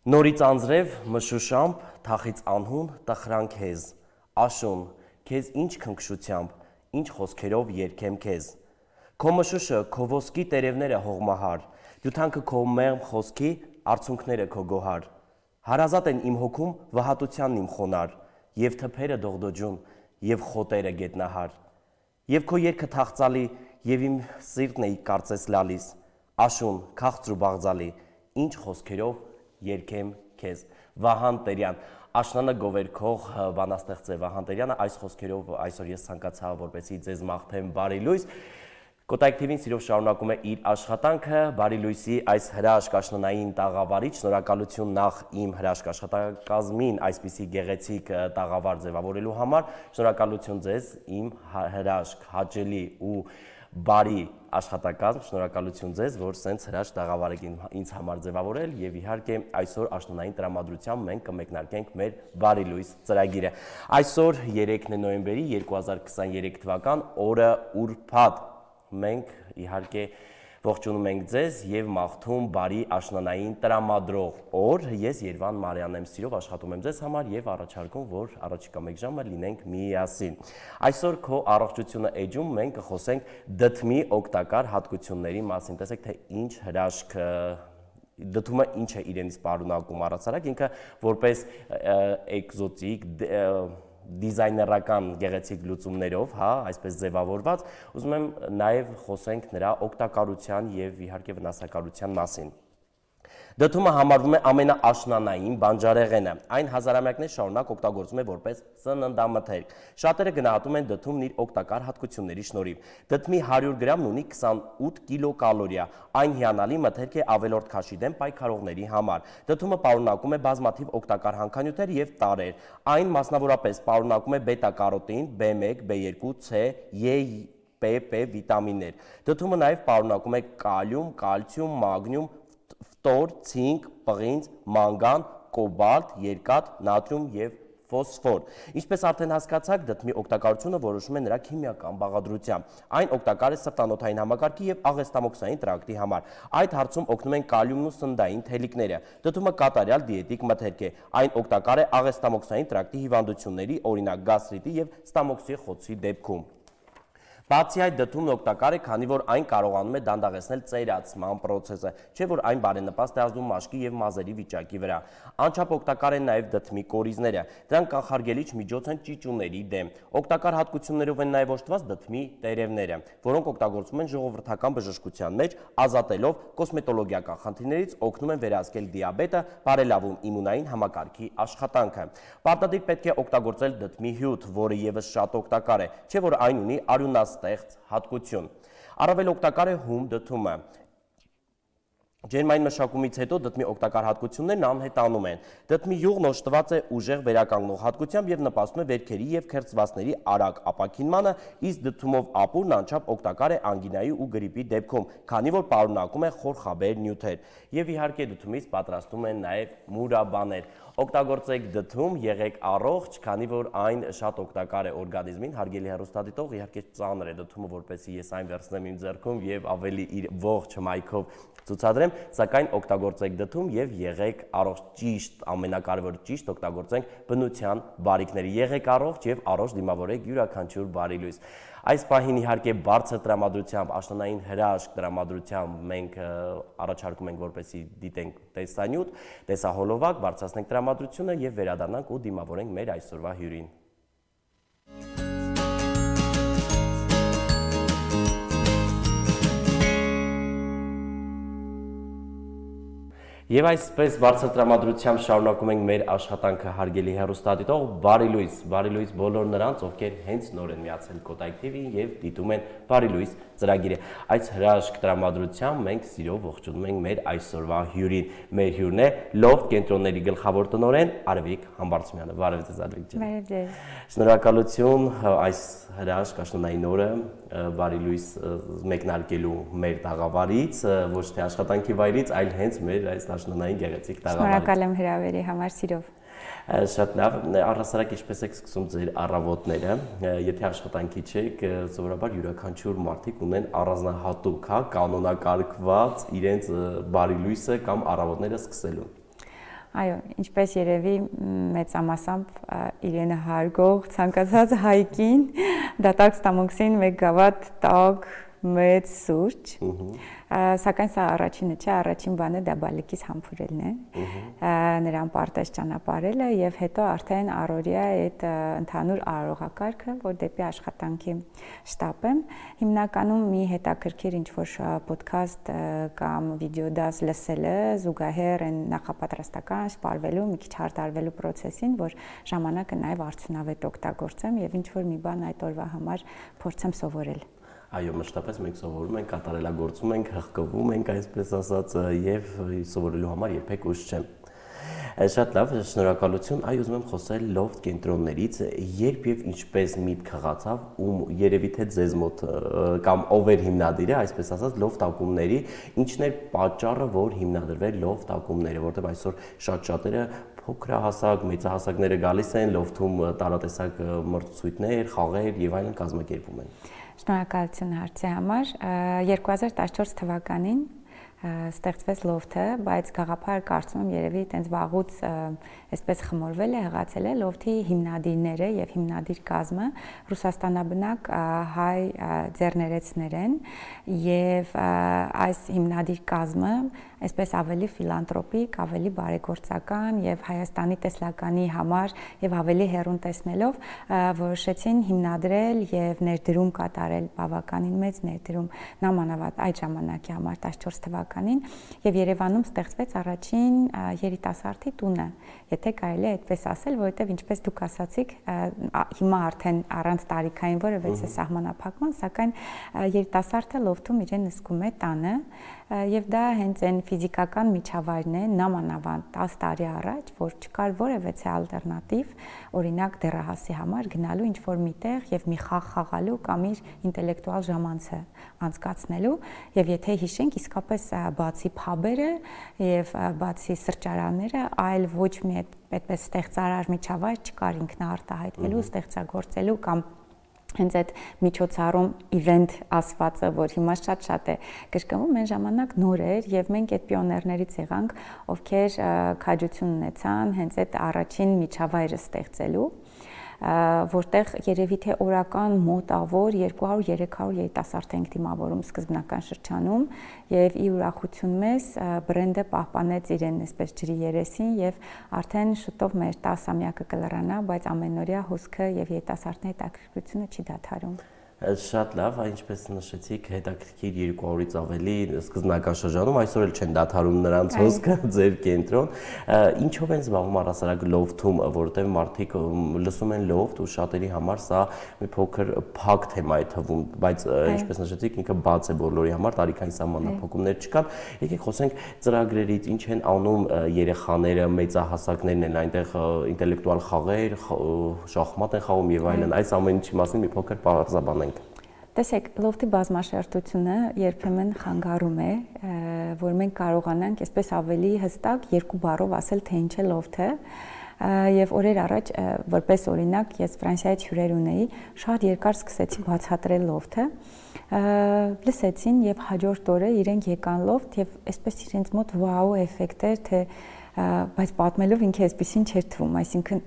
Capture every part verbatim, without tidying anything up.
Նորից անձրև, մշուշամբ, թախից անհուն, տխրան քեզ, աշուն, քեզ ինչ քնքշությամբ, ինչ խոսքերով երգեմ քեզ։ Քո մշուշը, քո ոսկի տերևները հողմահար, դյութանքը քո մեղմ խոսքի, արցունքները քո գոհար։ Հարազատ են իմ հոգում վհատությանն իմ խոնար, եւ թփերը դողդոջուն, եւ խոտերը գետնահար։ Եվ քո երգը թախծալի, եւ իմ սիրտն էի կարծես լալիս, աշուն, քաղցր ու բաղձալի, ինչ խոսքերով երգեմ քեզ։ Վահան Տերյան, աշնանը գովերքող բանաստեղծ է Վահան Տերյանը, այս խոսքերով այսօր ես ցանկացա որպեսզի ձեզ մաղթեմ բարի լույս։ Կոտայք թիվին սիրով շարունակում է իր աշխատանքը, բարի լույսի այս հրաշք աշնանային տաղավարից, շնորհակալություն նախ իմ հրաշք աշխատակազմին այսպիսի գեղեցիկ տաղավար ձևավորելու համար, շնորհակալություն ձեզ իմ հրաշք հաճելի ու բարի աշխատակազմ, շնորհակալություն ձեզ, որ սենց հրաշք տաղավար եք ինձ համար ձևավորել եւ իհարկե այսօր աշնանային տրամադրությամբ մենք կմեկնարկենք մեր բարի լույս ծրագիրը։ Այսօր երեքն է նոյեմբերի երկու հազար քսաներեք թվական, օրը ուրբաթ։ Մենք իհարկե ողջունում ենք ձեզ եւ մաղթում բարի աշնանային տրամադրող օր։ Ես Երվան Մարյանն եմ, սիրով աշխատում եմ ձեզ համար եւ առաջարկում, որ առաջիկա մեկ ժամը լինենք միասին։ Այսօր քո առողջությունը էջում մենք կխոսենք դդմի օգտակար հատկությունների մասին։ Տեսեք, թե ինչ հրաշք դդումը ինչ է իրենից պարունակում առացարակ, ինքը որպես էկզոտիկ դիզայներական գեղեցիկ լուծումներով, հա, այսպես ձևավորված, ուզում եմ նաև խոսենք նրա օգտակարության եւ իհարկե վնասակարության մասին։ Դդումը համարվում է ամենաաշնանային բանջարեղենը, այն հազարամյակներ շարունակ օգտագործվում է որպես սննդամթերք։ Շատերը գնահատում են դդումն իր օգտակար հատկությունների շնորհիվ։ Դդմի հարյուր գրամն ունի քսանութ կիլոկալորիա, այն հիանալի մթերք է ավելորդ քաշի դեմ պայքարողների համար։ Դդումը պարունակում է բազմաթիվ օգտակար հանքանյութեր եւ տարրեր։ Այն մասնավորապես պարունակում է բետա-կարոտին, B one, B two, C, E, P, P վիտամիններ։ Դդումը նաև պարունակում է կալիում, կալցիում, մագնիում, ֆտոր, ցինկ, պղինձ, մանգան, կոբալտ, երկաթ, նատրիում եւ ֆոսֆոր։ Ինչպես արդեն հասկացաք, դդմի օգտակարությունը որոշվում է նրա քիմիական բաղադրությամբ։ Այն օգտակար է սրտանոթային համակարգի եւ աղեստամոքսային տրակտի համար։ Այդ հարցում օգնում են կալիումն ու սննդային թելիկները։ Դդումը կատարյալ դիետիկ մթերք է։ Այն օգտակար է աղեստամոքսային տրակտի հիվանդությունների, օրինակ գաստրիտի եւ ստամոքսի խոցի դեպքում։ Բացի այդ, դդումն օգտակար է, քանի որ այն կարողանում է դանդաղեցնել ծերացման պրոցեսը, չէ՞ որ այն բարենպաստ է ազդում մաշկի եւ մազերի վիճակի վրա։ Անչափ օգտակար են նաեւ դդմի կորիզները։ Դրանք կանխարգելիչ միջոց են ճիճուների դեմ։ Օգտակար հատկություններով են նաեւ օժտված դդմի տերևները, որոնք օգտագործվում են ժողովրդական բժշկության մեջ, ազատելով կոսմետոլոգիական խնդիրներից, օգնում են վերահսկել դիաբետը, բարելավում իմունային համակարգի աշխատանքը։ Պարտադիր պետք է օգտագործել դդմի հյութ, որը եւս շատ օգտակար է, չէ՞ որ այն ունի արյունաստեղծ հատկություն։ Առավել օգտակար է հում դդումը։ Ջերմային մշակումից հետո դդմի օգտակար հատկություններն անհետանում են։ Դդմի յուղն օժտված է ուժեղ վերականգնող հատկությամբ եւ նպաստում է վերքերի եւ քերծվածների արագ ապաքինմանը, իսկ դդումով ապուրն անչափ օգտակար է անգինայի ու գրիպի դեպքում, քանի որ պարունակում է խորխաբեր նյութեր։ Եվ իհարկե դդումից պատրաստում են նաեւ մուրաբաներ։ Օգտագործեք դդում, եղեք առողջ, քանի որ այն շատ օգտակար է օրգանիզմին, հարգելի հեռուստադիտող, իհարկե ծանր է դդումը, որպեսզի ես այն վերցնեմ իմ ձեռքում եւ ավելի իր ողջ հմայքով ցուցադրեմ, սակայն օգտագործեք դդում եւ եղեք առողջ, ճիշտ, ամենակարևորը ճիշտ օգտագործենք բնության բարիքները։ Եղեք առողջ եւ առողջ դիմավորեք յուրաքանչյուր բարի լույս։ Այս պահին իհարկե բարձր տրամադրությամբ, աշնանային հրաշք տրամադրությամբ մենք առաջարկում ենք, որպեսզի դիտենք տեսանյութ, տեսահոլովակ, բարձրացնենք տրամադրությունը եւ վերադառնանք ու դիմավորենք մեր այսօրվա հյուրին։ Եվ այսպես բարձր տրամադրությամբ շարունակում ենք մեր աշխատանքը, հարգելի հեռուստադիտող, բարի լույս, բարի լույս բոլոր նրանց, ովքեր հենց նոր են միացել Կոտայք թիվին եւ դիտում են բարի լույս ծրագիրը։ Այս հրաշք տրամադրությամբ մենք սիրով ողջունում ենք մեր այսօրվա հյուրին։ Մեր հյուրն է Լոֆթ կենտրոնների գլխավոր տնօրեն Արևիկ Համբարձումյանը։ Բարև ձեզ, Արևիկ ջան։ Բարև ձեզ։ Շնորհակալություն այս հրաշք աշնանային օրը բարի լույս մեկնարկելու մեր տաղավարից, ոչ թե աշխատանքի վայրից, այլ հենց մեր այս աշնանային գեղեցիկ տաղավարից։ Շնորհակալ եմ հրավերի համար, սիրով։ Շատ լավ, առհասարակ ինչպես եք սկսում ձեր առավոտները, եթե աշխատանքի չեք, սովորաբար յուրաքանչյուր մարդիկ ունեն առանձնահատուկ, հա, կանոնակարգված իրենց բարի լույսը կամ առավոտները սկսելու։ Այո, ինչպես երևի մեծամասամբ իրենը հարգող ցանկացած հայկին դատարկ ստամոքսին մեկ գավաթ տաք մեծ սուրճ, սակայն սա առաջինը չէ, առաջին բանը դա բալիկից համբուրելն է, նրան պարտեզ ճանապարհելը եւ հետո արդեն առօրյա այդ ընդհանուր արարողակարգը, որ դեպի աշխատանքի շտապ եմ, հիմնականում մի հետաքրքիր ինչ-որ ոդքասթ կամ վիդեոդաս լսելը զուգահեռ են նախապատրաստական սպառվելու, մի քիչ հարդարվելու process-ին, որ ժամանակը նաեւ արդյունավետ օգտագործեմ եւ ինչ-որ մի բան այդ օրվա համար փորձեմ սովորել։ Այո, մշտապես մենք սովորում ենք, կատարելագործում ենք, հղկվում ենք, այսպես ասած, եւ սովորելու համար երբեք ուշ չէ։ Շատ լավ, շնորհակալություն։ Այ ուզում եմ խոսել լոֆթ կենտրոններից, երբ եւ ինչպես միտք խաղացավ, ում երևի թե ձեզ մոտ կամ ով էր հիմնադիրը, այսպես ասած, լոֆթ ակումբների, ինչն էր պատճառը, որ հիմնադրվեր լոֆթ ակումբները, որտեղ այսօր շատ շատերը փոքրահասակ, մեծահասակները գալիս են լոֆթում տարատեսակ մրցույթներ, խաղեր եւ այլն կազմակերպում են։ Շնորհակալություն հարցի համար։ երկու հազար տասնչորս թվականին ստեղծվեց լոֆթը, բայց գաղափարը կարծում եմ երևի այտենց վաղուց այսպես խմորվել է, հղացել է լոֆթի հիմնադիրները եւ հիմնադիր կազմը Ռուսաստանաբնակ հայ ձեռներեցներ են եւ այս հիմնադիր կազմը այսպես ավելի ֆիլանտրոպիկ, ավելի բարեգործական եւ Հայաստանի տեսլականի համար եւ ավելի հեռուն տեսնելով որոշեցին հիմնադրել եւ ներդրում կատարել բավականին մեծ ներդրում նամանավանդ այդ ժամանակի համար տասնչորս թվականին եւ Երևանում ստեղծվեց առաջին երիտասարդի տունը, եթե կարելի է այդպես ասել, որովհետեւ ինչպես դուք ասացիք, հիմա արդեն առանց տարիքային որևէ սահմանափակման, սակայն երիտասարդը լոֆթում իրեն նսկում է տանը եւ դա հենց այն ֆիզիկական միջավայրն է նամանավանդ տասը տարի առաջ, որ չկար որևէ ալտերնատիվ, օրինակ դեռահասի համար գնալու ինչ-որ միտեղ եւ մի խաղ խաղալու կամ իր ինտելեկտուալ ժամանցը անցկացնելու եւ եթե հիշենք իսկապես բացի փաբերը եւ բացի սրճարանները, այլ ոչ մի այդպես ստեղծարար միջավայր չկար ինքնաարտահայտվելու, ստեղծագործելու կամ հենց այդ միջոցառում event ասվածը, որ հիմա շատ-շատ է կրկնվում, այն ժամանակ նոր էր եւ մենք այդ պիոներներից եղանք, ովքեր քաջություն ունեցան հենց այդ առաջին միջավայրը ստեղծելու, որտեղ երևի թե օրական մոտավոր երկու հարյուր երեք հարյուր երիտասարդ ենք դիմավորում սկզբնական շրջանում եւ ի ուրախություն մեզ բրենդը պահպանեց իրեն այսպես ջրի երեսին եւ արդեն շուտով մեր տասամյակը կլրանա, բայց ամենօրյա հոսքը եւ երիտասարդների հետաքրքրությունը չի դադարում։ Շատ լավ, ինչպես նշեցիք, հետաքրքիր երկու հարյուրից ավելի սկզբնական շրջանում, այսօր էլ չեն դադարում նրանց հոսքը, ձեր կենտրոն։ Ինչով են զբաղվում առհասարակ լոֆթում, որովհետև մարդիկ լսում են լոֆթ ու շատերի համար սա մի փոքր փակ թեմա է թվում, բայց ինչպես նշեցիք, ինքը բաց է բոլորի համար, տարիքային սահմանափակումներ չկան։ Եկեք խոսենք ծրագրերից, ինչ են անում երեխաները, մեծահասակներն են այնտեղ ինտելեկտուալ խաղեր, շախմատ են խաղում եւ այլն, այս ամեն ինչի մասին մի փոքր պարզաբանենք։ Տեսեք, լոֆթի բազմաշերտությունը երբեմն խանգարում է, որ մենք կարողանանք այսպես ավելի հստակ երկու բառով ասել, թե ինչ է լոֆթը, եւ օրեր առաջ որպես օրինակ ես Ֆրանսիայից հյուրեր ունեի, շատ երկար սկսեցի բացատրել լոֆթը, լսեցին եւ հաջորդ օրը իրենք եկան լոֆթ եւ այսպես իրենց մոտ վաու էֆեկտ էր, թե բայց պատմելով ինքը այսպեսին չէր թվում, այսինքն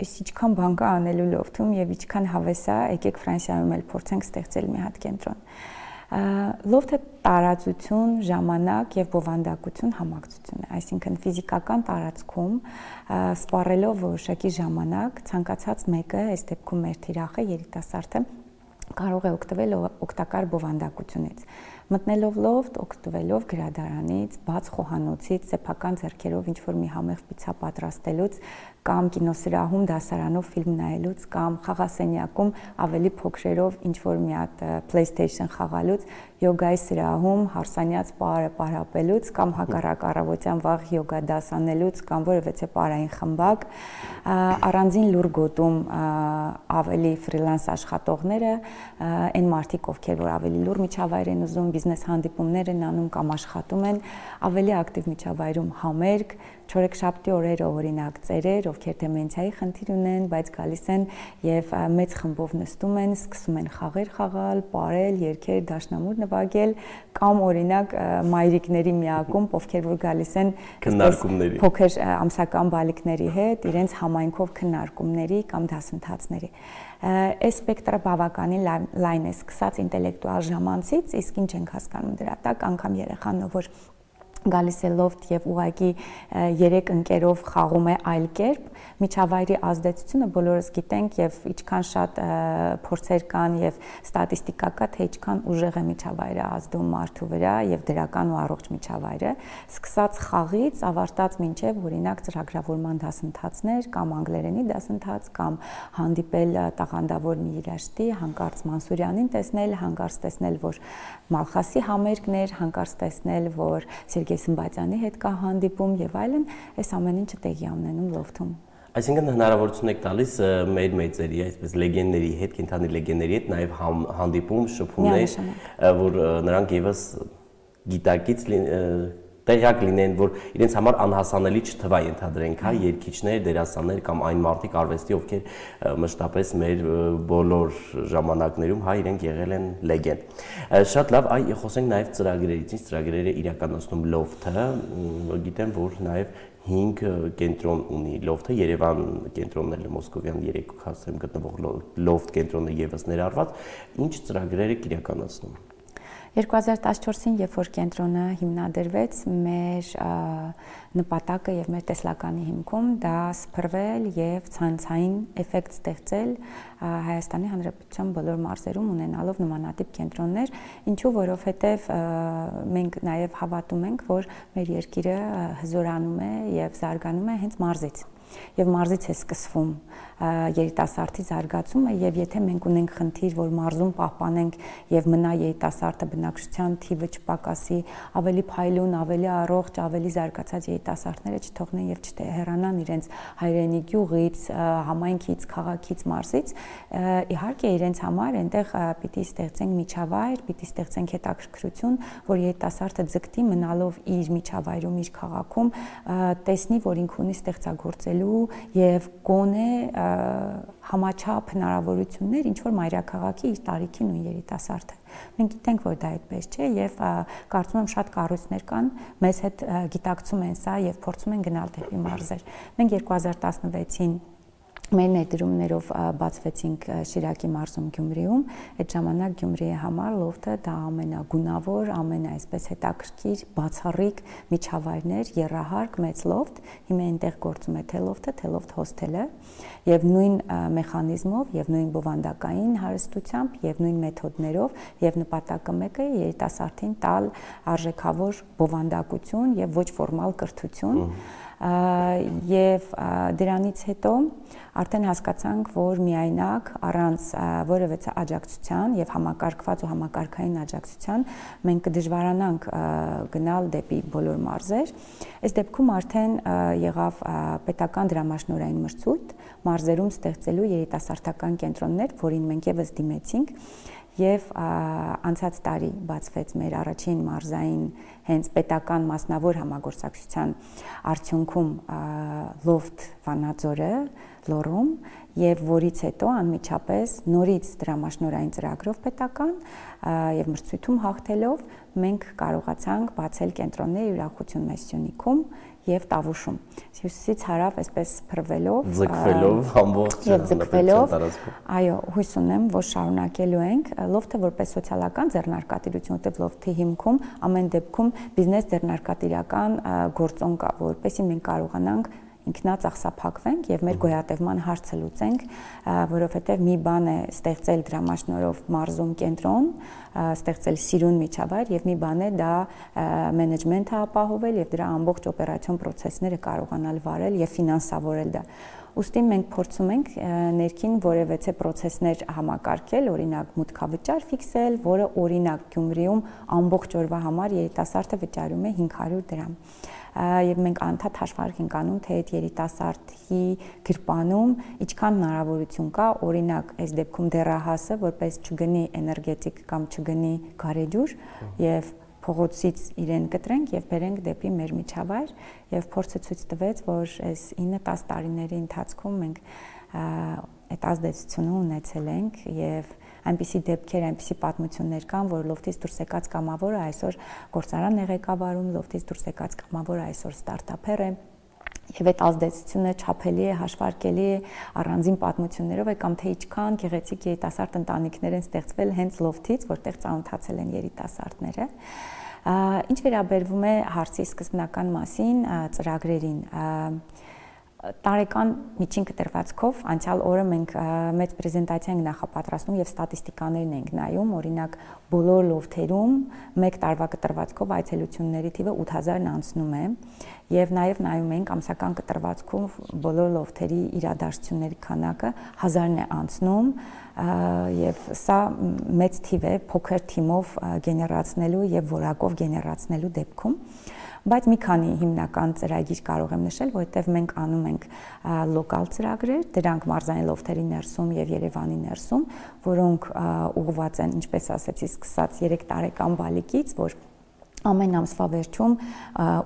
այս ինչքան բան կա անելու լոֆթում եւ ինչքան հավես է, եկեք Ֆրանսիայում էլ փորձենք ստեղծել մի հատ կենտրոն։ Լոֆթը տարածություն, ժամանակ եւ բովանդակություն համակցություն է, այսինքն ֆիզիկական տարածքում սպառելով որոշակի ժամանակ ցանկացած մեկը, այս դեպքում մեր թիրախը երիտասարդը կարող է օգտվել օգտակար բովանդակությունից։ Մտնելով լոֆթ, օգտվելով գրադարանից, բաց խոհանոցից, սեփական ձեռքերով ինչ-որ մի համեղ պիցցա պատրաստելուց կամ կինոսրահում դասարանով ֆիլմ նայելուց կամ խաղասենյակում ավելի փոքրերով ինչ-որ մի հատ PlayStation խաղալուց, յոգայի սրահում հարսանյաց պարը պարապելուց կամ հակառակ առավոտյան վաղ յոգա դաս անելուց կամ որևէ պարային խմբակ, առանձին լուր գոտում ավելի ֆրիլանս աշխատողները, այն մարդիկ, ովքեր որ ավելի լուր միջավայր են ուզում, բիզնես հանդիպումներ են անում կամ աշխատում են, ավելի ակտիվ միջավայրում համերգ, չորեքշաբթի օրերը օրինակ ծերեր, ովքեր դեմենցիայի խնդիր ունեն, բայց գալիս են եւ մեծ խմբով նստում են, սկսում են խաղեր խաղալ, պարել, երգեր, դաշնամուր նվագել, կամ օրինակ մայրիկների միակում, ովքեր որ գալիս են քննարկումների, փոքր ամսական բալիկների հետ, իրենց համայնքով քննարկումների կամ դասընթացների։ Այս սպեկտրը բավականին լայն է, սկսած ինտելեկտուալ ժամանցից, իսկ ինչ ենք հասկանում դրա տակ, անգամ երեխան, որ գալիս է լոֆտ եւ ուղակի երեք ընկերով խաղում է այլ կերպ, միջավայրի ազդեցությունը բոլորս գիտենք եւ ինչքան շատ փորձեր կան եւ ստատիստիկա կա, թե ինչքան ուժեղ է միջավայրը ազդում մարդու վրա եւ դրական ու առողջ միջավայրը, սկսած խաղից ավարտած մինչեւ օրինակ ծրագրավորման դասընթացներ կամ անգլերենի դասընթաց կամ հանդիպել տաղանդավոր մի երաժշտի, հանկարծ Մանսուրյանին տեսնել, հանկարծ տեսնել, որ Մալխասի համերգներ, հանկարծ տեսնել, որ Սերգեյ հետ կա հանդիպում եւ այլն, այս ամեն ինչը տեղի ունենում լոֆթում։ Այսինքն հնարավորություն եք տալիս մեր մեծերի, այսպես լեգենդների հետ, կենթանի լեգենդների հետ նաեւ հանդիպում, շփումներ, որ նրանք եւս գիտակից տեղյակ լինեն, որ իրենց համար անհասանելի չթվա ենթադրենք, հա, երգիչներ, դերասաններ կամ այն մարդիկ արվեստի, ովքեր մշտապես մեր բոլոր ժամանակներում, հա, իրենք եղել են լեգենդ։ Շատ լավ, այ խոսենք նաև ծրագրերից, ինչ ծրագրերը իրականացնում լոֆթը, գիտեմ, որ նաև հինգ կենտրոն ունի լոֆթը, Երևան կենտրոնն է Մոսկովյան երեք հասցեմ գտնվող լոֆթ կենտրոնը եւս ներառված, ինչ ծրագրեր եք իրականացնում։ երկու հազար տասնչորսին, երբ որ կենտրոնը հիմնադրվեց, մեր նպատակը եւ մեր տեսլականի հիմքում դա սփռվել եւ ցանցային էֆեկտ ստեղծել Հայաստանի Հանրապետության բոլոր մարզերում ունենալով նմանատիպ կենտրոններ, ինչու որովհետեւ մենք նաեւ հավատում ենք, որ մեր երկիրը հզորանում է եւ զարգանում է հենց մարզից։ Եվ մարզից է սկսվում երիտասարդի զարգացումը եւ եթե մենք ունենք խնդիր, որ մարզում պահպանենք եւ մնա երիտասարդը բնակչության թիվը չպակասի, ավելի փայլուն, ավելի առողջ, ավելի զարգացած երիտասարդները չթողնեն եւ չհեռանան իրենց հայրենի գյուղից, համայնքից, քաղաքից, մարզից, իհարկե իրենց համար այնտեղ պիտի ստեղծենք միջավայր, պիտի ստեղծենք հետաքրքրություն, որ երիտասարդը ձգտի մնալով իր միջավայրում, իր քաղաքում, տեսնի, որ ինքը ունի ստեղծագործելու եւ գոնե համաչափ հնարավորություններ ինչ որ մայրաքաղաքի իր տարիքի նույն երիտասարդը։ Մենք գիտենք, որ դա այդպես չէ եւ կարծում եմ շատ կառույցներ կան, մեզ հետ գիտակցում են սա եւ փորձում են գնալ դեպի մարզեր։ Մենք երկու հազար տասնվեցին մեր ներդրումներով բացվեցինք Շիրակի մարզում Գյումրիում, այդ ժամանակ Գյումրիի համար լոֆթը դա ամենագունավոր, ամենաայսպես հետաքրքիր, բացառիկ միջավայրներ, եռահարկ մեծ լոֆթ, հիմա այնտեղ գործում է թե լոֆթը, թե լոֆթ հոսթելը, եւ նույն մեխանիզմով եւ նույն բովանդակային հարստությամբ եւ նույն մեթոդներով եւ նպատակը մեկը է երիտասարդին տալ արժեքավոր բովանդակություն եւ ոչ ֆորմալ կրթություն եւ դրանից հետո արդեն հասկացանք, որ միայնակ առանց որևէ աջակցության եւ համակարգված ու համակարգային աջակցության մենք կդժվարանանք գնալ դեպի բոլոր մարզեր։ Այս դեպքում արդեն եղավ պետական դրամաշնորհային մրցույթ մարզերում ստեղծելու երիտասարդական կենտրոններ, որին մենք եւս դիմեցինք եւ անցած տարի բացվեց մեր առաջին մարզային հենց պետական մասնավոր համագործակցության արդյունքում լոֆթ Վանաձորը լոռում եւ որից հետո անմիջապես նորից դրամաշնորհային ծրագրով պետական եւ մրցույթում հաղթելով մենք կարողացանք բացել կենտրոններ ուրախություն մեծ Սյունիքում եւ Տավուշում։ Հյուսիսից հարավ այսպես փրվելով, ձգվելով ամբողջ ձգվելով, այո, հույս ունեմ, որ շարունակելու ենք լոֆթը որպես սոցիալական ձեռնարկատիրություն, որտեղ լոֆթի հիմքում ամեն դեպքում բիզնես ձեռնարկատիրական գործոն կա, որպեսզի մենք կարողանանք ինքնածախսափակվենք եւ մեր գոյատևման հարցը լուծենք, որովհետեւ մի բան է ստեղծել դրամաշնորհով մարզում կենտրոն, ստեղծել սիրուն միջավայր եւ մի բան է դա մենեջմենթը ապահովել եւ դրա ամբողջ օպերացիոն process-ները կարողանալ վարել եւ ֆինանսավորել դա։ Ուստի մենք փորձում ենք ներքին որևէ process-ներ համակարգել, օրինակ մուտքավճար ֆիքսել, որը օրինակ Գյումրիում ամբողջ օրվա համար երիտասարդը վճարում է հինգ հարյուր դրամ։ եւ մենք անդադ հաշվարկ ենք անում, թե այդ երիտասարդի գրպանում ինչքան հնարավորություն կա, օրինակ, այս դեպքում դեռահասը, որպես չգնի էներգետիկ կամ չգնի գարեջուր եւ փողոցից իրեն կտրենք եւ բերենք դեպի մեր միջավայր եւ փորձը ցույց տվեց, որ այս ինը տասը տարիների ընթացքում մենք այդ ազդեցությունը ունեցել ենք եւ այնպիսի դեպքեր, այնպիսի պատմություններ կան, որ լոֆտից դուրս եկած կամավորը այսօր գործարան է ղեկավարում, լոֆտից դուրս եկած կամավորը այսօր ստարտափեր է եւ այդ ազդեցությունը չափելի է, հաշվարկելի է առանձին պատմություններով է կամ թե ինչքան գեղեցիկ երիտասարդ ընտանիքներ են ստեղծվել հենց լոֆտից, որտեղ ծանոթացել են երիտասարդները։ Ինչ վերաբերվում է հարցի սկզբնական մասին, ծրագրերին, տարեկան միջին կտրվածքով անցյալ օրը մենք մեծ պրեզենտացիա ենք նախապատրաստում եւ ստատիստիկաներն ենք նայում, օրինակ բոլոր լոֆթերում մեկ տարվա կտրվածքով այցելությունների թիվը ութ հազարն անցնում է եւ նաեւ նայում ենք ամսական կտրվածքում բոլոր լոֆթերի իրադարձությունների քանակը հազարն է անցնում եւ սա մեծ թիվ է փոքր թիմով գեներացնելու եւ որակով գեներացնելու դեպքում բայց մի քանի հիմնական ծրագիր կարող եմ նշել, որովհետև մենք անում ենք լոկալ ծրագրեր, դրանք մարզային լոֆթերի ներսում եւ Երևանի ներսում, որոնք ուղղված են, ինչպես ասեցի, սկսած երեք տարեկան բալիկից, որ ամեն ամսվա վերջում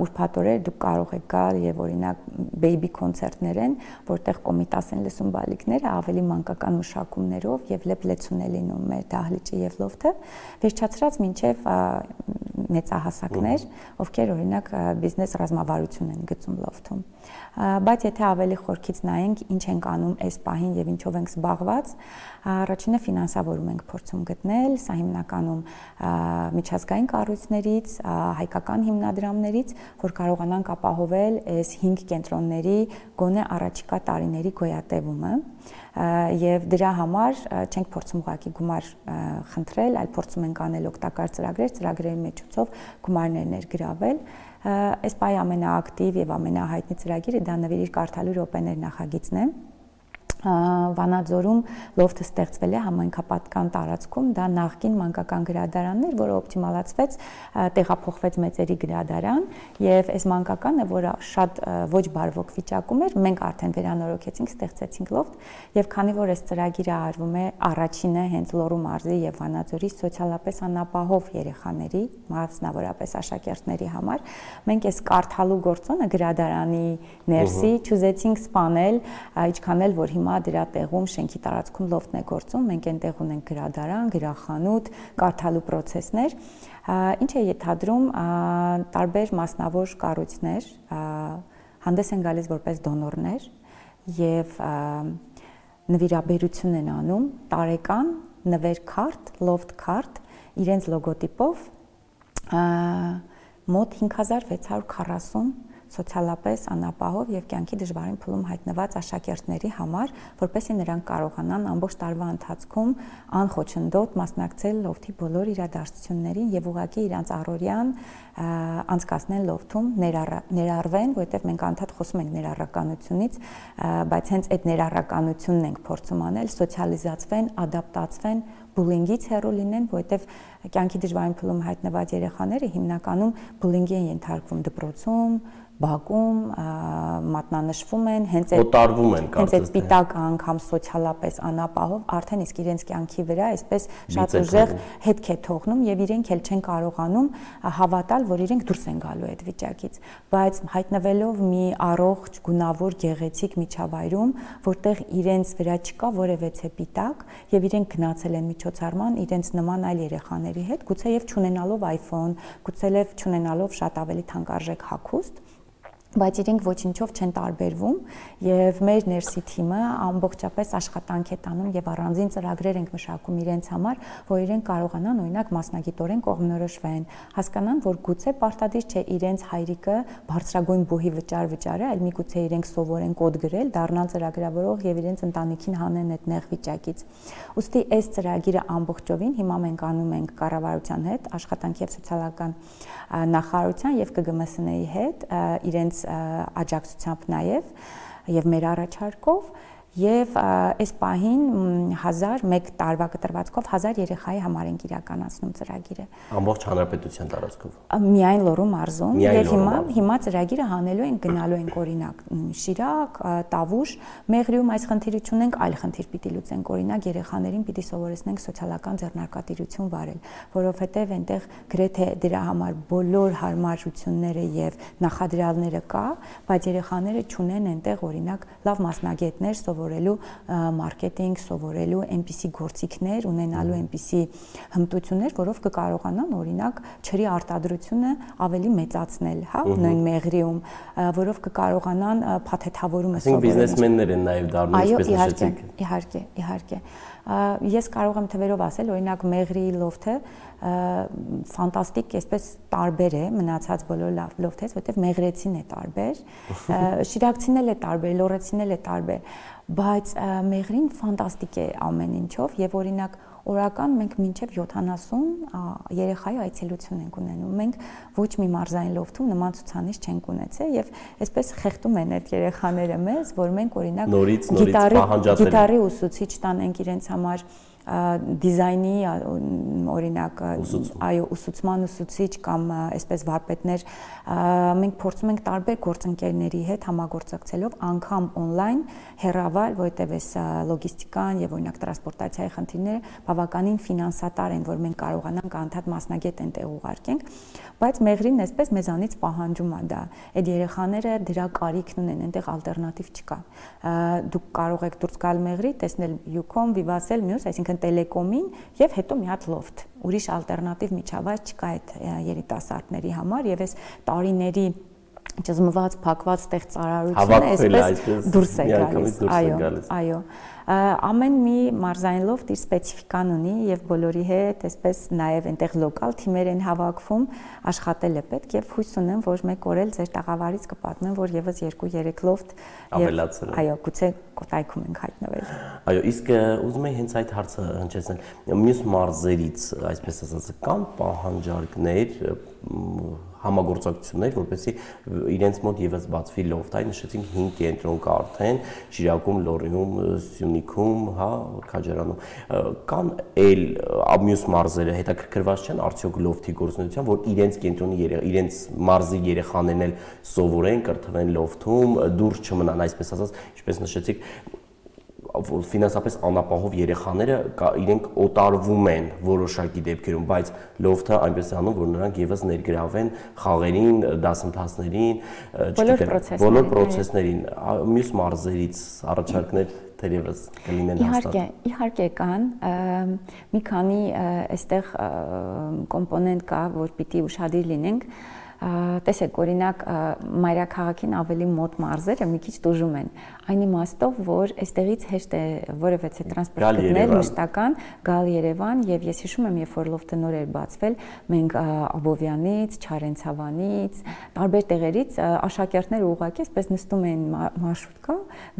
ուրբաթ օրեր դուք կարող եք գալ եւ օրինակ բեյբի կոնցերտներ են, որտեղ կոմիտաս են լսում բալիկները ավելի մանկական մշակումներով եւ լեփլեցուն է լինում մեր դահլիճը եւ լոֆթը, վերջացրած մինչեւ մեծահասակներ, ովքեր օրինակ բիզնես ռազմավարություն են գծում լոֆթում։ Բայց եթե ավելի խորքից նայենք, ինչ ենք անում այս պահին եւ ինչով ենք զբաղված, առաջինը ֆինանսավորում ենք փորձում գտնել, սա հիմնականում միջազգային կառույցներից, հայկական հիմնադրամներից, որ կարողանանք ապահովել այս հինգ կենտրոնների գոնե առաջիկա տարիների գոյատևումը եւ դրա համար չենք փորձում ուղղակի գումար խնդրել, այլ փորձում ենք անել օգտակար ծրագրեր, ծրագրերի միջոցով գումարներ ներգրավել։ Այս պահի ամենաակտիվ եւ ամենահայտնի ծրագիրը դա նվիրիր կարդալու րոպեներ նախագիծն է։ Վանաձորում լոֆթը ստեղծվել է համայնքապատկան տարածքում, դա նախկին մանկական գրադարանն էր, որը օպտիմալացվեց, տեղափոխվեց մեծերի գրադարան եւ այս մանկականը, որը շատ ոչ բարվոք վիճակում էր, մենք արդեն վերանորոգեցինք, ստեղծեցինք լոֆթ եւ քանի որ այս ծրագիրը արվում է առաջինը հենց Լոռու մարզի եւ Վանաձորի սոցիալապես անապահով երեխաների, մասնավորապես աշակերտների համար, մենք այս կարդալու գործոնը գրադարանի ներսի չուզեցինք սպանել, ինչքան էլ որ հիմա դրա տեղում շենքի տարածքում լոֆթն է գործում, մենք այնտեղ ունենք գրադարան, գրախանութ, կարդալու պրոցեսներ, ինչ է ենթադրում տարբեր մասնավոր կառույցներ հանդես են գալիս որպես դոնորներ եւ նվիրաբերություն են անում տարեկան նվեր քարտ, լոֆթ քարտ իրենց լոգոտիպով մոտ հինգ հազար վեց հարյուր քառասուն սոցիալապես անապահով եւ կյանքի դժվարին փուլում հայտնված աշակերտների համար, որպեսզի նրանք կարողանան ամբողջ տարվա ընթացքում անխոչնդոտ մասնակցել լոֆթի բոլոր իրադարձություններին եւ ուղղակի իրանց առօրյան անցկացնել լոֆթում, ներառվեն, որովհետեւ մենք անդադ խոսում ենք ներառականությունից, բայց հենց այդ ներառականությունն ենք փորձում անել, սոցիալիզացվեն, ադապտացվեն, բուլինգից հեռու լինեն, որովհետև կյանքի դժվարին փուլում հայտնված երեխաները հիմնականում բուլինգի են ենթարկվում դպրոցում, բակում, մատնանշվում են, հենց այդ օտարվում են հենց այդ պիտակ անգամ սոցիալապես անապահով արդեն իսկ իրենց կյանքի վրա այսպես շատ ուժեղ հետք է թողնում եւ իրենք էլ չեն կարողանում հավատալ, որ իրենք դուրս են գալու այդ վիճակից, բայց հայտնվելով մի առողջ, գունավոր, գեղեցիկ միջավայրում, որտեղ իրենց վրա չկա որևէ պիտակ եւ իրենք գնացել են միջոցառման իրենց նման այլ երեխաների հետ, գուցեև չունենալով iPhone, գուցեև չունենալով շատ ավելի թանկարժեք հագուստ, բայց իրենք ոչինչով չեն տարբերվում եւ մեր ներսի թիմը ամբողջապես աշխատանք է տանում եւ առանձին ծրագրեր ենք մշակում իրենց համար, որ իրենք կարողանան օրինակ մասնագիտորեն կողմնորոշվեն, հասկանան, որ գուցե պարտադիր չէ իրենց հայրիկը բարձրագույն բուհի վճար վճարը, այլ միգուցե իրենք սովորեն կոդ գրել, դառնան ծրագրավորող եւ իրենց ընտանիքին հանեն այդ նեղ վիճակից։ Ուստի այս ծրագիրը ամբողջովին հիմա մենք անում ենք կառավարության հետ, աշխատանքի եւ սոցիալական նախարարության եւ Կ Գ M S N-ի հետ իրենց աջակցությամբ նաև եւ մեր առաջարկով եւ այս պահին հազար մեկ տարվա կտրվածքով հազար երեխայի համար ենք իրականացնում ծրագիրը։ Ամբողջ հանրապետության տարածքով։ Միայն Լոռու մարզում եւ հիմա հիմա ծրագիրը հանելու ենք, գնալու ենք օրինակ Շիրակ, Տավուշ, Մեղրիում այս խնդիրը չունենք, այլ խնդիր պիտի լուծենք, օրինակ երեխաներին պիտի սովորեցնենք սոցիալական ձեռնարկատիրություն վարել, որովհետեւ այնտեղ գրեթե դրա համար բոլոր հարմարությունները եւ նախադրյալները կա, բայց երեխաները չունեն այնտեղ օրինակ լավ մասնագետներ սովորելու մարքեթինգ, սովորելու այնպիսի գործիքներ, ունենալու այնպիսի հմտություններ, որով կկարողանան օրինակ ջրի արտադրությունը ավելի մեծացնել, հա, նույն Մեղրիում, որով կկարողանան փաթեթավորումը սովորել։ Այսինքն բիզնեսմեններ են նաև դառնում, ինչպես նշեցիք։ Իհարկե, իհարկե։ Ես կարող եմ թվերով ասել, օրինակ Մեղրիի լոֆթը ֆանտաստիկ, այսպես տարբեր է մնացած բոլոր լոֆթից, որտեղ մեղրեցին է տարբեր, շիրակցին էլ է տարբեր, լոռեցին էլ է տարբեր, բայց Մեղրին ֆանտաստիկ է ամեն ինչով եւ օրինակ օրական մենք մինչև յոթանասուն երեխայի այցելություն ենք ունենում։ Մենք ոչ մի մարզային լոֆթում նման ցուցանիշ չենք ունեցել եւ այսպես խեղդում են այդ երեխաները մեզ, որ մենք օրինակ գիտարի ուսուցիչ տանենք իրենց համար դիզայնի օրինակ այո ուսուցման ուսուցիչ կամ այսպես վարպետներ մենք փորձում ենք տարբեր գործընկերների հետ համագործակցելով անգամ on-line հեռավար, որտեղ էս լոգիստիկան եւ օրինակ տրանսպորտացիայի խնդիրները բավականին ֆինանսատար են, որ մենք կարողանանք անդադ մասնագետ այնտեղ ուղարկենք, բայց Մեղրին այսպես մեզանից պահանջում է դա։ Այդ երեխաները դրա կարիքն ունեն, այնտեղ ալտերնատիվ չկա։ Դուք կարող եք դուրս գալ Մեղրի, տեսնել Յուկոմ, Վիվասել, մյուս, այսինքն Տելեկոմին եւ հետո մի հատ լոֆթ։ Ուրիշ ալտերնատիվ միջավայր չկա այդ երիտասարդների համար եւ այս տարիների ճզմված, փակված ստեղծարարությունը այսպես դուրս է գալիս։ Այո, այո։ Ամեն մի մարզային լոֆթ իր սպეციფიკան ունի եւ բոլորի հետ այսպես նաեւ այնտեղ լոկալ թիմեր են հավաքվում, աշխատել է պետք եւ հույս ունեմ, որ մեկ օր էլ ձեր տաղավարից կպատմեմ, որ եւս երկու երեք լոֆթ ավելացել են։ Այո, գուցե կոտայքում ենք հայտնվել։ Այո, իսկ ուզում եմ հենց այդ հարցը հնչեցնել։ Մյուս մարզերից, այսպես ասած, կան պահանջարկներ, համագործակցություններ, որպեսզի իրենց մոտ եւս բացվի լոֆթ, այ նշեցինք հինգ կենտրոն կա արդեն Շիրակում, Լոռիում, Սյունիքում, հա, Քաջարանում։ Կան այլ մյուս մարզերը հետաքրքրված չեն արդյոք լոֆթի գործունեության, որ իրենց կենտրոնի իրենց մարզի երեխաներն էլ սովորեն, կրթվեն լոֆթում, դուրս չմնան, այսպես ասած, ինչպես նշեցիք, ֆինանսապես անապահով երեխաները իրենք օտարվում են որոշակի դեպքերում, բայց լոֆթը այնպես է անում, որ նրանք եւս ներգրավեն խաղերին, դասընթացներին, բոլոր պրոցեսներին, մյուս մարզերից առաջարկներ թերևս կլինեն հաստատ։ Իհարկե, իհարկե կան, մի քանի այստեղ կոմպոնենտ կա, որ պիտի ուշադիր լինենք։ Տեսեք, օրինակ մայրաքաղաքին ավելի մոտ մարզերը մի քիչ տուժում են։ Այն իմաստով, որ այստեղից հեշտ է որևէ տրանսպորտ գտնել մշտական, գալ Երևան եւ ես հիշում եմ, երբ որ լոֆթը նոր էր բացվել, մենք Աբովյանից, Չարենցավանից, տարբեր տեղերից աշակերտները ուղղակի այսպես նստում էին մարշրուտկա,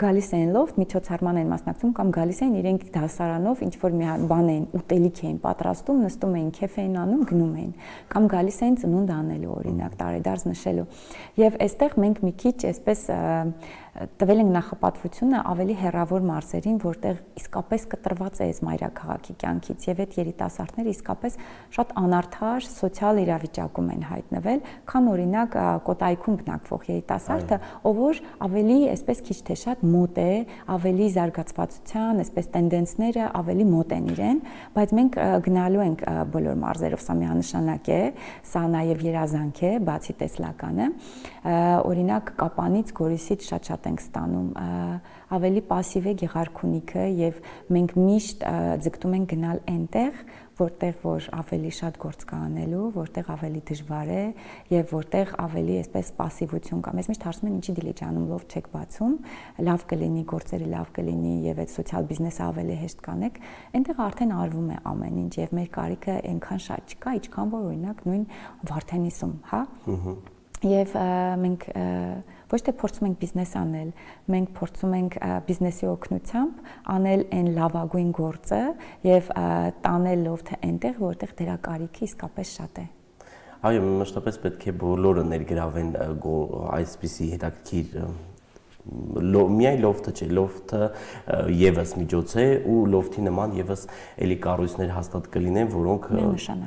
գալիս էին լոֆթ, միջոցառման էին մասնակցում կամ գալիս էին իրենք դասարանով ինչ որ մի բան էին, ուտելիք էին պատրաստում, նստում էին, քեֆ էին անում, գնում էին, կամ գալիս էին ծնունդ անելու օրինակ տարեդարձ նշելու։ Եվ այստեղ մենք մի քիչ այսպես տվել ենք նախապատվությունը ավելի հեռավոր մարզերին, որտեղ իսկապես կտրված է այս մայրաքաղաքի կյանքից եւ այդ երիտասարդները իսկապես շատ անարդար սոցիալ իրավիճակում են հայտնվել, քան օրինակ Կոտայքում բնակվող երիտասարդը, ով որ ավելի այսպես քիչ թե շատ մոտ է, ավելի զարգացվածության, այսպես տենդենսները ավելի մոտ են իրեն, բայց մենք գնալու ենք բոլոր մարզերով, սա միանշանակ է, սա նաեւ երազանք է, բացի տեսլականը, օրինակ Կապանից, Գորիսից շատ-շատ ենք ստանում, ավելի пассив է Գեղարքունիքը եւ մենք միշտ ձգտում ենք գնալ այնտեղ, որտեղ որ ավելի շատ գործ կա անելու, որտեղ ավելի դժվար է եւ որտեղ ավելի այսպես пассивություն կա։ Մեզ միշտ հարցնում են ինչի դիլիջանում լոֆթ չեք բացում, լավ կլինի գործերը, լավ կլինի եւ այդ սոցիալ բիզնեսը ավելի հեշտ կանեք։ Այնտեղ արդեն արվում է ամեն ինչ եւ մեր կարիքը այնքան շատ չկա, ինչքան որ օրինակ նույն Վարդենիսում, հա։ Եվ մենք ոչ թե փորձում ենք բիզնես անել, մենք փորձում ենք բիզնեսի օգնությամբ անել այն լավագույն գործը եւ տանել լոֆթը այնտեղ, որտեղ դրա կարիքը իսկապես շատ է։ Այո, մշտապես պետք է բոլորը ներգրավեն այսպիսի հետաքրքիր միայն լոֆթը չէ, լոֆթը եւս միջոց է ու լոֆթի նման եւս էլի կառույցներ հաստատ կլինեն, որոնք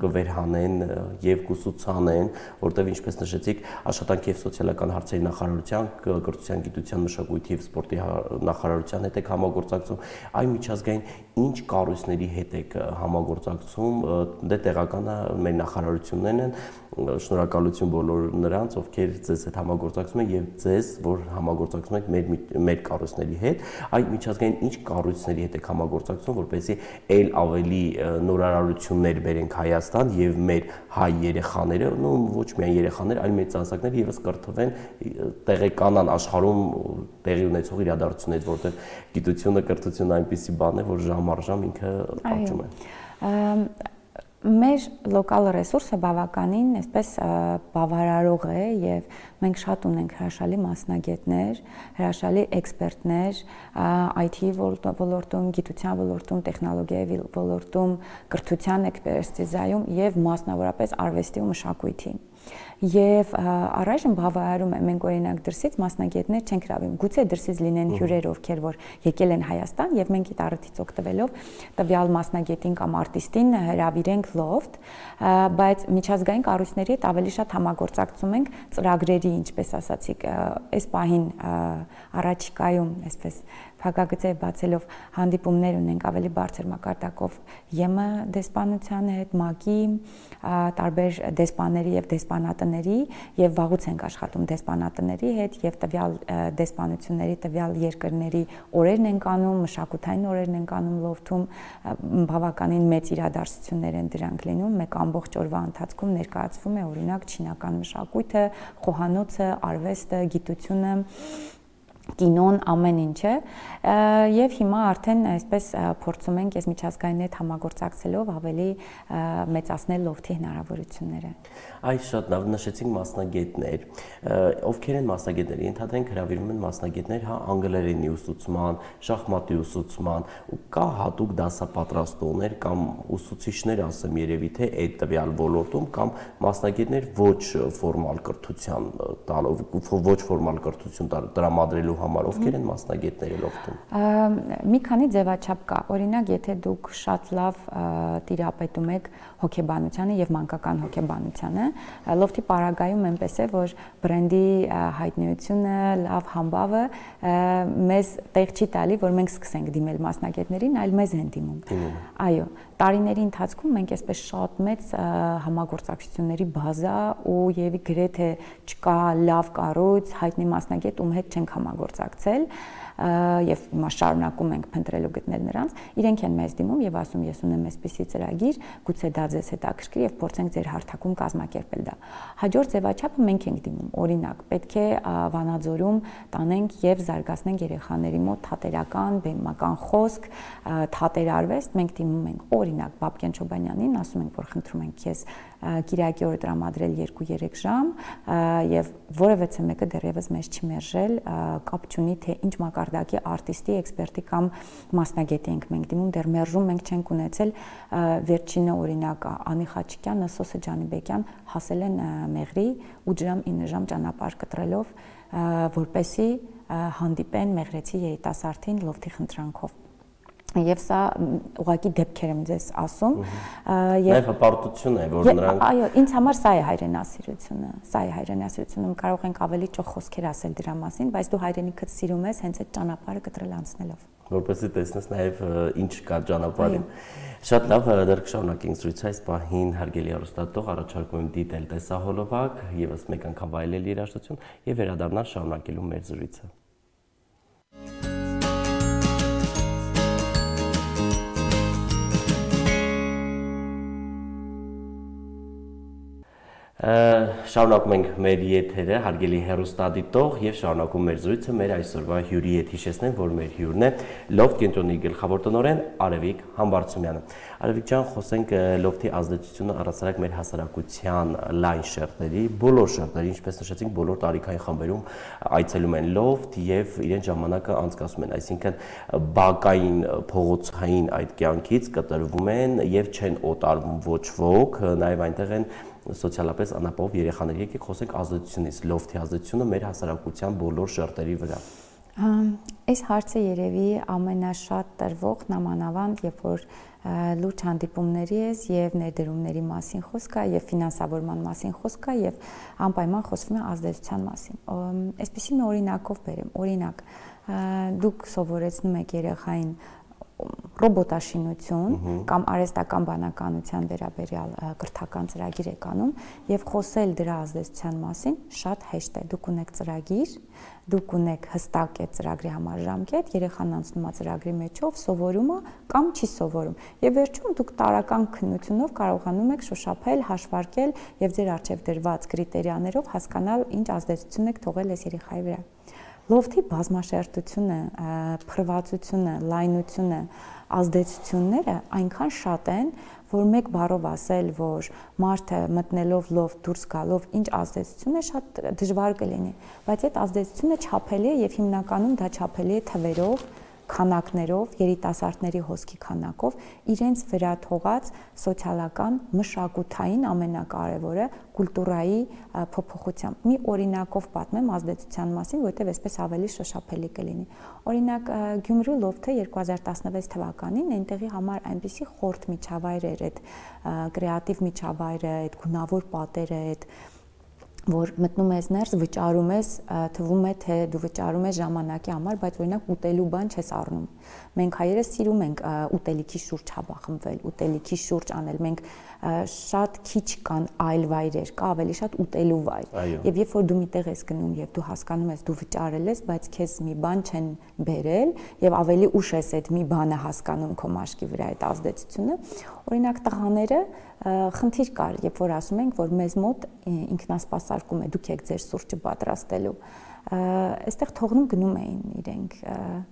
կվերհանեն եւ կուսուցանեն, որտեղ ինչպես նշեցիք, աշխատանքի եւ սոցիալական հարցերի նախարարության, կրթության, գիտության, մշակույթի եւ սպորտի նախարարության հետ եք համագործակցում, այ միջազգային ինչ կառույցների հետ եք համագործակցում, դե տեղականը մեր նախարարություններն են, շնորհակալություն բոլոր նրանց, ովքեր ձեզ հետ համագործակցում են եւ ձեզ, որ համագործակցում եք մեր մեր կառույցների հետ, այ միջազգային ինչ կառույցների հետ եք համագործակցում, որպեսզի այլ ավելի նորարարություններ բերենք Հայաստան եւ մեր հայ երեխաները, նո ոչ միայն երեխաներ, այլ մեր ծանոթները եւս կրթվեն, տեղեկանան աշխարհում տեղի ունեցող իրադարձություններից, որտեղ գիտությունը, կրթությունը այնպիսի բան է, որ ժամ առ ժամ ինքը աճում է։ Մեր լոկալ ռեսուրսը բավականին այսպես բավարարող է եւ մենք շատ ունենք հրաշալի մասնագետներ, հրաշալի էքսպերտներ այ թի ոլորտում, գիտության ոլորտում, տեխնոլոգիայի ոլորտում, կրթության էքսպերտիզայում եւ մասնավորապես արվեստի ու մշակույթի։ Եվ առայժմ բավարարում է, մենք օրինակ դրսից մասնագետներ չենք հրավիրում, գուցե դրսից լինեն հյուրեր, ովքեր որ եկել են Հայաստան եւ մենք այդ առիթից օգտվելով տվյալ մասնագետին կամ արտիստին հրավիրենք լոֆթ, բայց միջազգային կառույցների հետ ավելի շատ համագործակցում ենք ծրագրերի, ինչպես ասացիք, այս պահին առաջիկայում, այսպես փակագծեր բացելով հանդիպումներ ունենք ավելի բարձր մակարդակով ԵՄ դեսպանության հետ, ՄԱԿ-ի, տարբեր դեսպանների եւ դեսպանատների եւ վաղուց ենք աշխատում դեսպանատների հետ եւ տվյալ դեսպանությունների, տվյալ երկրների օրերն են անում, մշակութային օրերն են անում լոֆթում, բավականին մեծ իրադարձություններ են դրանք լինում, մեկ ամբողջ օրվա ընթացքում ներկայացվում է օրինակ չինական մշակույթը, խոհանոցը, արվեստը, գիտությունը, կինոն, ամեն ինչը եւ հիմա արդեն այսպես փորձում ենք այս միջազգային հետ համագործակցելով ավելի մեծացնել լոֆթի հնարավորությունները։ Այս շատ լավ նշեցինք մասնագետներ, ովքեր են մասնագետները, ենթադրենք հրավիրում են մասնագետներ, հա, անգլերենի ուսուցման, շախմատի ուսուցման, ու կա հատուկ դասապատրաստողներ կամ ուսուցիչներ, ասեմ երևի թե այդ տվյալ ոլորտում կամ մասնագետներ ոչ ֆորմալ կրթության տալով, ոչ ֆորմալ կրթություն տրամադրելու համար, ովքեր են մասնագետները լոֆթում։ Մի քանի ձևաչափ կա, օրինակ եթե դուք շատ լավ տիրապետում եք հոգեբանությանը եւ մանկական հոգեբանությանը, լոֆթի պարագայում այնպես է, որ բրենդի հայտնիությունը, լավ համբավը մեզ տեղ չի տալի, որ մենք սկսենք դիմել մասնագետներին, այլ մեզ են դիմում։ Այո, տարիների ընթացքում մենք այսպես շատ մեծ համագործակցությունների բազա ու եւ գրեթե չկա լավ կառույց, հայտնի մասնագետ, ում հետ չենք համագործակցել եւ հիմա շարունակում ենք փնտրել ու գտնել նրանց, իրենք են մեզ դիմում եւ ասում ես ունեմ այսպիսի ծրագիր, գուցե դա ձեզ հետաքրքրի եւ փորձենք ձեր հարթակում կազմակերպել դա։ Հաջորդ ձևաչափը մենք ենք դիմում, օրինակ, պետք է Վանաձորում տանենք եւ զարգացնենք երեխաների մոտ թատերական, բեմական խոսք, թատերարվեստ, մենք դիմում ենք օրինակ Բաբկեն Չոբանյանին, ասում ենք, որ խնդրում ենք քեզ Կիրակի օրը տրամադրել երկու-երեք ժամ եւ որևէ մեկը դեռևս մեզ չի մերժել, կապ չունի թե ինչ մակարդակի արտիստի, էքսպերտի կամ մասնագետի ենք մենք դիմում, դեռ մերժում մենք չենք ունեցել, վերջինը օրինակ Անի Խաչիկյանը, Սոսե Ջանիբեկյան հասել են Մեղրի ութ ժամ ինը ժամ ճանապարհ կտրելով, որպեսի հանդիպեն մեղրեցի երիտասարդին լոֆթի խնդրանքով։ Եվ սա ուղղակի դեպքեր եմ ձեզ ասում եւ հպարտություն է, որ նրանք այո, ինձ համար սա է հայրենասիրությունը, սա է հայրենասիրությունը, կարող ենք ավելի ճոխ խոսքեր ասել դրա մասին, բայց դու հայրենիքդ սիրում ես հենց այդ ճանապարհը կտրել անցնելով, որպեսզի տեսնես նաեւ ինչ կա ճանապարհին։ Շատ լավ, դեռ կշարունակենք զրույցը, այս պահին հարգելի հեռուստատող առաջարկում եմ դիտել տեսահոլովակ, եւս մեկ անգամ վայելել երաժշտություն եւ վերադառնալ շարունակելու մեր զրույցը։ Շարունակում ենք մեր եթերը, հարգելի հեռուստադիտող եւ շարունակում մեր զրույցը մեր այսօրվա հյուրի հետ հիշեցնեմ, որ մեր հյուրն է Լոֆթ կենտրոնի գլխավոր տնօրեն Արևիկ Համբարձումյանը։ Արևիկ ջան, խոսենք լոֆթի ազդեցությունը առասարակ մեր հասարակության լայն շերտերի, բոլոր շերտերի, ինչպես նշեցինք, բոլոր տարիքային խմբերում այցելում են լոֆթ եւ իրեն ժամանակը անցկացնում են, այսինքն բակային փողոցային այդ կյանքից կտրվում են եւ չեն օտարվում ոչ ոք, նաեւ այնտեղ են սոցիալապես անապահով երեխաներ, եկեք խոսենք ազդեցությունից, լոֆթի ազդեցությունը մեր հասարակության բոլոր շերտերի վրա։ Այս հարցը երևի ամենաշատ տրվող նամանավանդ, երբ որ լուրջ հանդիպումների ես եւ ներդրումների մասին խոսք կա եւ ֆինանսավորման մասին խոսք կա եւ անպայման խոսվում է ազդեցության մասին։ Այսպեսի մի օրինակով բերեմ, օրինակ, դուք սովորեցնում եք երեխային ռոբոտաշինություն կամ արհեստական բանականության վերաբերյալ կրթական ծրագիր եք անում եւ խոսել դրա ազդեցության մասին շատ հեշտ է։ Դուք ունեք ծրագիր, դուք ունեք հստակ այդ ծրագրի համար ժամկետ, երեխան անցնում է ծրագրի մեջով, սովորում է կամ չի սովորում։ Եվ վերջում դուք տարական քննությունով կարողանում եք շոշափել, հաշվարկել եւ ձեր առջեւ դրված կրիտերիաներով հասկանալ ինչ ազդեցություն եք թողել այս երեխայի վրա։ Լոֆթի բազմաշերտությունը, փրվածությունը, լայնությունը, ազդեցությունները այնքան շատ են, որ մեկ բառով ասել, որ մարդը մտնելով լոֆթ դուրս գալով ինչ ազդեցություն է, շատ դժվար կլինի, բայց այդ ազդեցությունը չափելի է եւ հիմնականում դա չափելի է թվերով, քանակներով, երիտասարդների հոսքի քանակով, իրենց վրա թողած սոցիալական, մշակութային ամենակարևորը կուլտուրայի փոփոխությամբ։ Մի օրինակով պատմեմ ազդեցության մասին, որովհետև այսպես ավելի շոշափելի կլինի։ Օրինակ, Գյումրու լոֆթը երկու հազար տասնվեց թվականին այնտեղի համար այնպիսի խորտ միջավայր էր, այդ կրեատիվ միջավայրը, այդ գունավոր պատերը, այդ որ մտնում ես ներս, վճարում ես, թվում է թե դու վճարում ես ժամանակի համար, բայց օրինակ ուտելու բան չես առնում։ Մենք հայերս սիրում ենք ուտելիքի շուրջ հավախմվել, ուտելիքի շուրջ անել։ Մենք շատ քիչ կան այլ վայրեր, կա ավելի շատ ուտելու վայր։ Եվ երբ որ դու միտեղ ես գնում եւ դու հասկանում ես, դու վճարել ես, բայց քեզ մի բան չեն բերել եւ ավելի ուշ ես այդ մի բանը հասկանում քո մաշկի վրա այդ ազդեցությունը, օրինակ տղաները խնդիր կար, երբ որ ասում ենք, որ մեզ մոտ ինքնասպասարկում է, դուք եք ձեր սուրճը պատրաստելու, այստեղ թողնում գնում էին իրենք,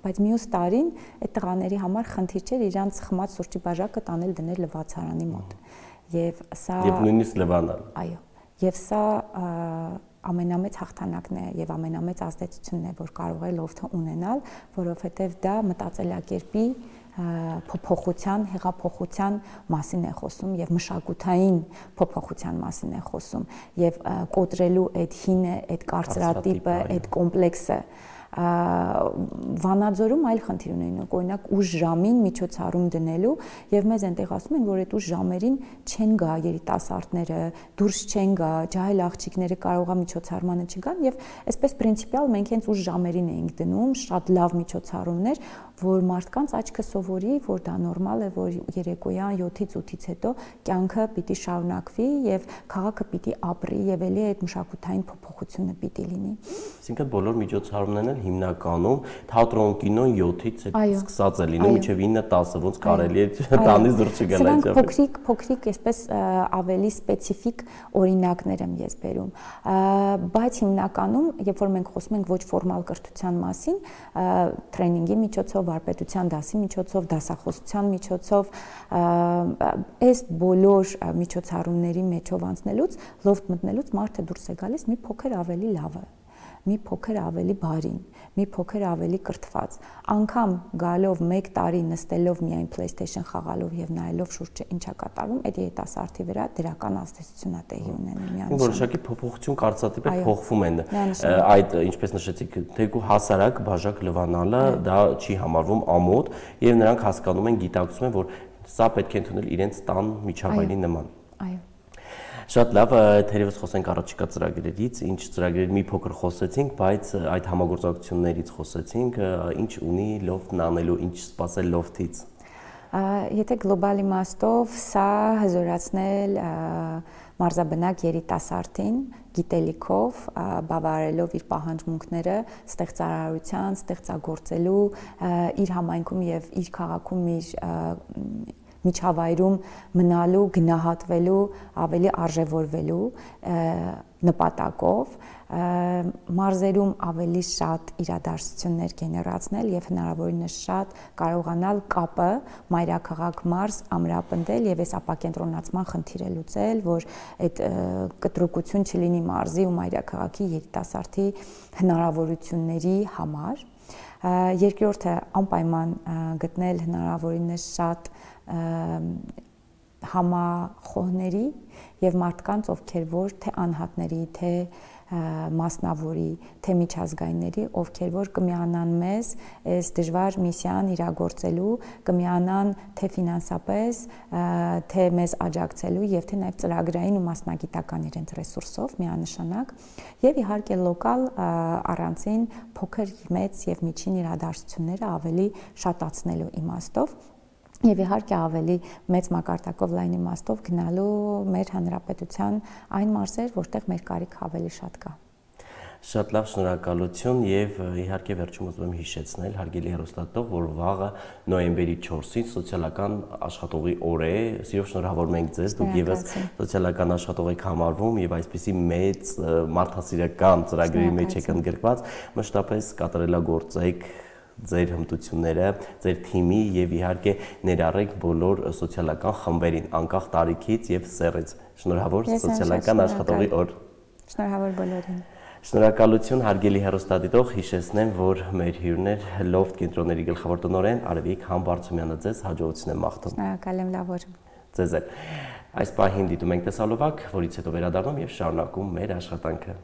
բայց մյուս տարին այդ տղաների համար խնդիր չէր իրանց խմած սուրճի բաժակը տանել դնել լվացարանի մոտ։ Եվ սա Եվ նույնիսկ լվանալ։ Այո, եւ սա ամենամեծ հաղթանակն է եւ ամենամեծ ազդեցությունն է, որ կարող է լոֆթը ունենալ, որովհետեւ դա մտածելակերպի փոփոխության, հեղափոխության մասին է խոսում եւ մշակութային փոփոխության մասին է խոսում եւ կոտրելու այդ հինը, այդ կարծրատիպը, այդ կոմպլեքսը Վանաձորում այլ խնդիր ունեն, օրինակ ուշ ժամին միջոցառում դնելու եւ մեզ այնտեղ ասում են, որ այդ ուշ ժամերին չեն գա երիտասարդները, դուրս չեն գա, ջահել աղջիկները կարող է միջոցառմանը չգան եւ այսպես պրինցիպիալ մենք հենց ուշ ժամերին էինք դնում, շատ լավ միջոցառումներ, որ մարդկանց աչքը սովորի, որ դա նորմալ է, որ երեկոյան յոթից ութից հետո կյանքը պիտի շարունակվի եւ քաղաքը պիտի ապրի եւ ելի այդ մշակութային փոփոխությունը պիտի լինի։ Այսինքն բոլոր միջոցառումներն են հիմնականում թատրոն, կինոն յոթից սկսած է լինում մինչև ինը տասը, ոնց կարելի է տանից դուրս չգալ այդ։ Սրանք փոքրիկ, փոքրիկ, այսպես ավելի սպეციფիկ օրինակներ եմ ես բերում, բայց հիմնականում, երբ որ մենք խոսում ենք ոչ ֆորմալ կրթության մասին, տրեյնինգի միջոցով, վարպետության դասի միջոցով, դասախոսության միջոցով, այս բոլոր միջոցառումների մեջով անցնելուց, լոֆթ մտնելուց մարդը դուրս է գալիս մի փոքր ավելի լավը, մի փոքր ավելի բարին, մի փոքր ավելի կրթված, անգամ գալով մեկ տարի նստելով միայն PlayStation խաղալով եւ նայելով շուրջը ինչա կատարվում, այդ երիտասարդի վրա դրական ազդեցություն է տեղի ունենում միանշանակ։ Որոշակի փոփոխություն կարծրատիպեր փոխվում են։ Այդ ինչպես նշեցիք, թեկու հասարակ բաժակ լվանալը դա չի համարվում ամոթ եւ նրանք հասկանում են, գիտակցում են, որ սա պետք է ընդունել իրենց տան միջավայրի նման։ Այո։ Շատ լավ, թերևս խոսենք առաջիկա ծրագրերից, ինչ ծրագրերի մի փոքր խոսեցինք, բայց այդ համագործակցություններից խոսեցինք, ինչ ունի լոֆթն անելու, ինչ սպասել լոֆթից։ Եթե գլոբալ իմաստով սա հզորացնել մարզաբնակ երիտասարդին գիտելիքով, բավարարելով իր պահանջմունքները ստեղծարարության, ստեղծագործելու, իր համայնքում եւ իր քաղաքում իր միջավայրում մնալու, գնահատվելու, ավելի արժևորվելու նպատակով մարզերում ավելի շատ իրադարձություններ գեներացնել եւ հնարավորինս շատ կարողանալ կապը մայրաքաղաք մարզ ամրապնդել եւ այս ապակենտրոնացման խնդիրը լուծել, որ այդ կտրուկություն չլինի մարզի ու մայրաքաղաքի երիտասարդի հնարավորությունների համար։ Երկրորդը անպայման գտնել հնարավորինս շատ համախոհների եւ մարդկանց, ովքեր որ թե անհատների, թե մասնավորի, թե միջազգայինների, ովքեր որ կմիանան մեզ այս դժվար միսիան իրագործելու, կմիանան թե ֆինանսապես, թե մեզ աջակցելու եւ թե նաեւ ծրագրային ու մասնագիտական իրենց ռեսուրսով միանշանակ եւ իհարկե լոկալ առանցին փոքր, մեծ եւ միջին իրադարձությունները ավելի շատացնելու իմաստով եւ իհարկե ավելի մեծ մակարդակով լայն իմաստով գնալու մեր հանրապետության այն մարզեր, որտեղ մեր կարիքը ավելի շատ կա։ Շատ լավ, շնորհակալություն եւ իհարկե վերջում ուզում եմ հիշեցնել հարգելի հեռուստադիտող, որ վաղը նոյեմբերի չորսին սոցիալական աշխատողի օր է։ Սիրով շնորհավորում ենք ձեզ, դուք եւս սոցիալական աշխատող եք համարվում եւ այսպիսի մեծ մարդասիրական ծրագրերի մեջ եք ընդգրկված, մշտապես կատարելագործեք ձեր հմտությունները, ձեր թիմի եւ իհարկե ներառեք բոլոր սոցիալական խմբերին, անկախ տարիքից եւ սեռից։ Շնորհավոր սոցիալական աշխատողի օր։ Շնորհավոր բոլորին։ Շնորհակալություն հարգելի հեռուստադիտող, հիշեցնեմ, որ մեր հյուրն էր Loft կենտրոնների գլխավոր տնօրեն Արևիկ Համբարձումյանը, ձեզ հաջողություն եմ մաղթում։ Շնորհակալ եմ, լավ օր։ Ձեզ էլ։ Այս պահին դիտում ենք տեսալովակ, որից հետո վերադառնում եւ շարունակում մեր աշխատանքը։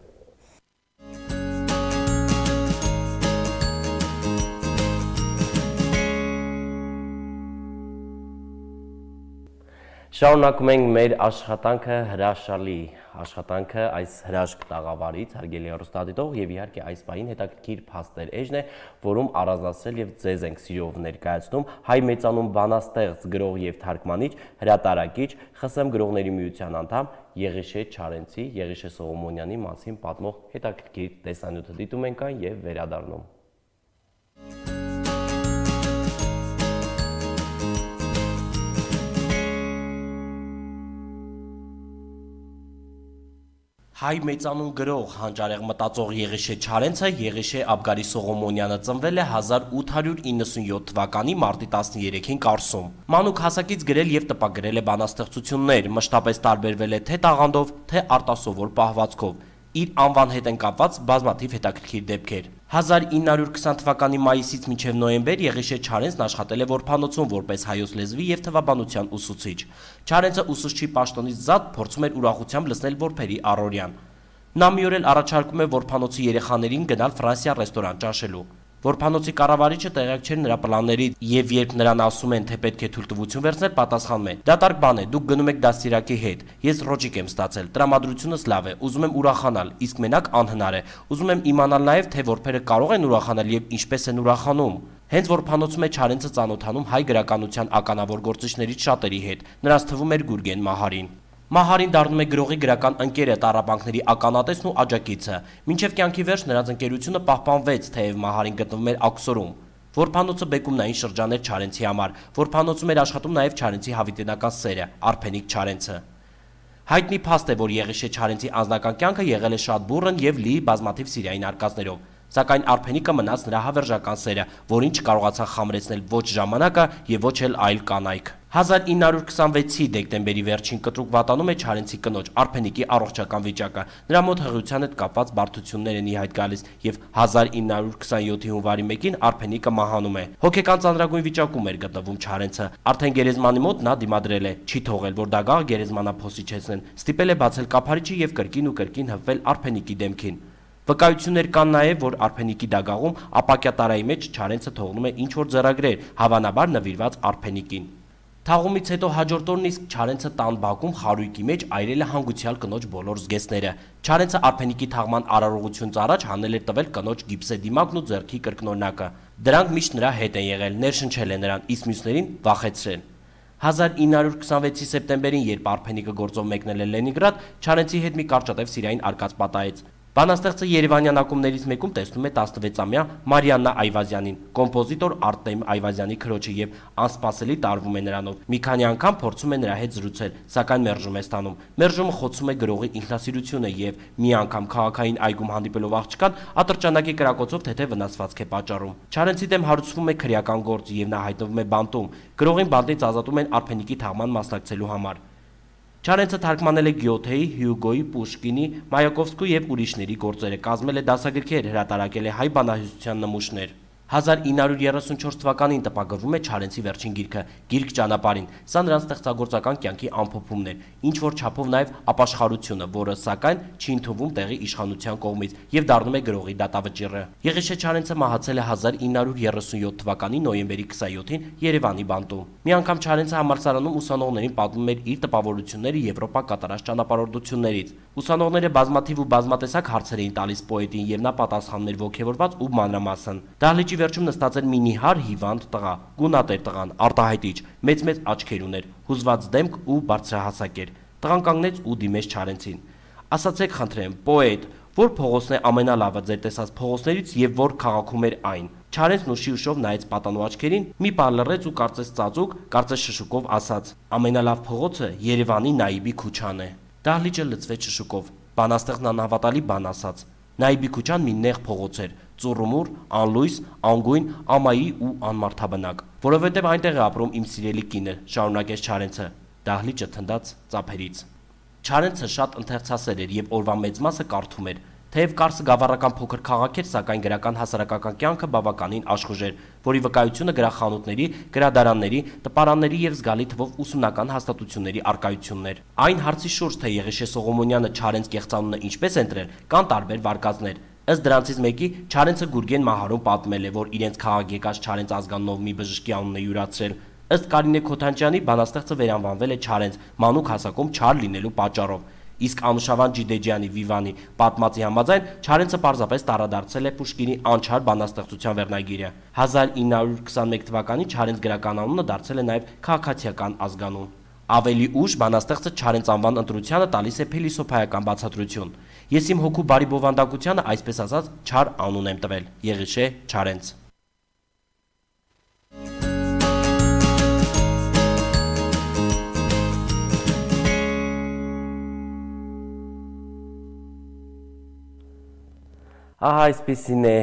Շարունակում ենք մեր աշխատանքը հրաշալի աշխատանքը այս հրաշք տաղավարից, հարգելի հեռուստադիտող, եւ իհարկե այս պահին հետաքրքիր փաստեր էջն է, որում առանձնացրել եւ ձեզ ենք սիրով ներկայացնում հայ մեծանուն բանաստեղծ, գրող եւ թարգմանիչ, հրատարակիչ, ԽՍՀՄ գրողների միության անդամ Եղիշե Չարենցի, Եղիշե Սողոմոնյանի մասին պատմող հետաքրքիր տեսանյութը դիտում ենք այն եւ վերադառնում։ Հայ մեծանուն գրող, հանճարեղ մտածող Եղիշե Չարենցը Եղիշե Աբգարի Սողոմոնյանը ծնվել է հազար ութ հարյուր իննսունյոթ թվականի մարտի տասներեքին Կարսում։ Մանուկ հասակից գրել եւ տպագրել է բանաստեղծություններ, մշտապես տարբերվել է թե տաղանդով, թե արտասովոր պահվածքով։ Իր անվան հետ են կապված բազմաթիվ հետաքրքիր դեպքեր։ հազար ինը հարյուր քսան թվականի մայիսից մինչև նոյեմբեր Եղիշե Չարենցն աշխատել է որբանոցում որպես հայոց լեզվի եւ թվաբանության ուսուցիչ։ Չարենցը ուսուցչի պաշտոնից զատ փորձում էր ուրախությամբ լսնել որբերի առօրյան։ Նա մի օր էլ առաջարկում է որբանոցի երեխաներին գնալ Ֆրանսիա ռեստորան ճաշելու։ Որբանոցի կառավարիչը տեղյակ չէր նրա պլաններից եւ երբ նրան ասում են, թե պետք է թույլտվություն վերցնել, պատասխանում է. «Դատարկ բան է, դուք գնում եք դաստիարակի հետ։ Ես ռոճիկ եմ ստացել, տրամադրությունս լավ է, ուզում եմ ուրախանալ, իսկ մենակ անհնար է։ Ուզում եմ իմանալ նաեւ, թե որբերը կարող են ուրախանալ եւ ինչպես են ուրախանում»։ Հենց որբանոցում է Չարենցը ծանոթանում հայ գրականության ականավոր գործիչներից շատերի հետ։ Նրանց թվում էր Գուրգեն Մահարին։ Մահարին դառնում է գրողի գրական ընկերը, տառապանքների ականատեսն ու աջակիցը։ Մինչև կյանքի վերջ նրանց ընկերությունը պահպանվեց, թեև Մահարին գտնվում էր Աքսորում։ Որբանոցը բեկումնային շրջան էր Չարենցի համար։ Որբանոցում էր աշխատում նաև Չարենցի հավիտենական սերը՝ Արփենիկ Չարենցը։ Հայտնի փաստ է, որ Եղիշե Չարենցի անձնական կյանքը եղել է շատ բուռն եւ լի բազմաթիվ սիրային արկածներով։ Սակայն Արփենիկը մնաց նրա հավերժական սերը, որին չկարողացան խամրեցնել ոչ ժամանակը եւ ոչ էլ այլ կանայք։ հազար ինը հարյուր քսանվեցի դեկտեմբերի վերջին կտրուկ վատանում է Չարենցի կնոջ Արփենիկի առողջական վիճակը։ Նրա մոտ հղիության հետ կապված բարդություններ են ի հայտ գալիս եւ հազար ինը հարյուր քսանյոթի հունվարի մեկին Արփենիկը մահանում է։ Հոգեկան ծանրագույն վիճակում էր գտնվում Չարենցը։ Արդեն գերեզմանի մոտ նա դիմադրել է, չի թողել, որ դագաղ գերեզմանափոսիչեցնեն։ Ստիպել է բացել կափարիչը եւ կրկին ու կրկին հպվել Արփենիկի դեմքին։ Վկայություններ կան նաև, որ Արփենիկի դագաղում ապակյա տարայի մեջ Չարենցը թողնում է ինչ-որ ձեռագրեր, հավանաբար նվիրված Արփենիկին։ Թաղումից հետո հաջորդ օրն իսկ Չարենցը տան բակում խարույկի մեջ այրել է հանգուցյալ կնոջ բոլոր զգեստները։ Չարենցը Արփենիկի թաղման արարողությունից առաջ հանել էր տվել կնոջ գիպսե դիմակն ու ձեռքի կրկնօրինակը։ Դրանք միշտ նրա հետ են եղել, ներշնչել են նրան, իսկ մյուսներին վախեցրել։ հազար ինը հարյուր քսանվեցի սեպտեմբերին, երբ Արփենիկը գործով մեկնել է Լենինգրադ, Չարենցի հետ մի կարճատև սիրային արկած պատահեց։ Բանաստեղծը Երևանյան ակումբներից մեկում տեսնում է տասնվեցամյա Մարիաննա Այվազյանին, կոմպոզիտոր Արտեմ Այվազյանի քրոջը եւ անսպասելի տարվում է նրանով։ Մի քանի անգամ փորձում է նրա հետ զրուցել, սակայն մերժում է ստանում։ Մերժումը խոցում է գրողի ինքնասիրությունը եւ մի անգամ քաղաքային այգում հանդիպելով աղջկան ատրճանակի կրակոցով թեթե վնասվածք է պատճառում։ Չարենցի դեմ հարուցվում է քրեական գործ եւ նա հայտնվում է բանտում։ Գրողին բանտից ազատում են Արփենիկի թաղման մասնակցելու համար։ Չարենցը թարգմանել է Գյոթեի, Հյուգոյի, Պուշկինի, Մայակովսկու եւ ուրիշների գործերը, կազմել է դասագրքեր, հրատարակել է հայ բանահյուսության նմուշներ։ հազար ինը հարյուր երեսունչորս թվականին տպագրվում է Չարենցի վերջին գիրքը՝ Գիրք ճանապարհին։ Սա նրան ստեղծագործական կյանքի ամփոփումն էր, ինչ որ չափով նաև ապաշխարությունը, որը սակայն չի ընդունվում տեղի իշխանության կողմից եւ դառնում է գրողի դատավճիռը։ Եղիշե Չարենցը մահացել է հազար ինը հարյուր երեսունյոթ թվականի նոյեմբերի քսանյոթին Երևանի բանտում։ Մի անգամ Չարենցը համալսարանում ուսանողներին պատմում էր իր տպավորությունները Եվրոպա կատարած ճանապարհորդություններից։ Ուսանողները բազմաթիվ ու բազմատեսակ հարցեր էին տալիս պոետին եւ նա պատասխանել ողջևորված ու մանրամասն։ Դահլիճի վերջում նստած էր մի նիհար հիվանդ տղա, գունատեր տղան, արտահայտիչ, մեծ-մեծ աչքեր ուներ, հուզված դեմք ու բարձրահասակ էր։ Տղան կանգնեց ու դիմեց Չարենցին։ Ասացեք խնդրեմ, պոետ, որ փողոցն է ամենալավը ձեր տեսած փողոցներից եւ որ քաղաքում էր այն։ Չարենցն ուշի ուշով նայեց պատանու աչքերին, մի պար լռեց ու կարծես ծածուկ, կարծես շշուկով ասաց. ամենալավ փողոցը Երևանի Նայիբի քուչան է։ Դահլիճը լցվեց շշուկով։ Բանաստեղծն անհավատալի բան ասաց։ Նայիբի քուչան մի նեղ փողոց էր, ծուռումուռ, անլույս, անգույն, ամայի ու անմարդաբնակ, որովհետև այնտեղ է ապրում իմ սիրելի կինը, շարունակեց Չարենցը։ Դահլիճը թնդաց ծափերից։ Չարենցը շատ ընթերցասեր էր եւ օրվա մեծ մասը կարդում էր։ Թեև Կարսը գավառական փոքր քաղաք էր, սակայն գրական հասարակական կյանքը բավականին աշխուժ էր, որի վկայությունը գրախանութների, գրադարանների, տպարանների եւ զգալի թվով ուսումնական հաստատությունների առկայությունն էր։ Այն հարցի շուրջ, թե Եղիշե Սողոմոնյանը Չարենց կեղծանունը ինչպես է ընտրել, կան տարբեր վարկածներ։ Ըստ դրանցից մեկի Չարենցը Գուրգեն Մահարում պատմել է, որ իրենց քաղաք եկած Չարենց ազգանունով մի բժշկի անունն է յուրացրել։ Ըստ Կարինե Քոթանջյանի բանաստեղծը վերանվանվել է Չարենց, մանուկ հասակում չար լինելու պատճառով։ Իսկ Անուշավան Ջիդեջյանի Վիվանի պատմածի համաձայն Չարենցը պարզապես տարադարձել է Պուշկինի անչար բանաստեղծության վերնագիրը։ հազար ինը հարյուր քսաներեք թվականին Չարենց գրական անունը դարձել է նաև քաղաքացիական ազգանուն։ Ավելի ուշ բանաստեղծը Չարենց անվան ընտրությանը տալիս է փիլիսոփայական բացատրություն։ Ես իմ հոգու բարի բովանդակությանը այսպես ասած չար անուն եմ տվել՝ Եղիշե Չարենց։ Ահա այսպեսին է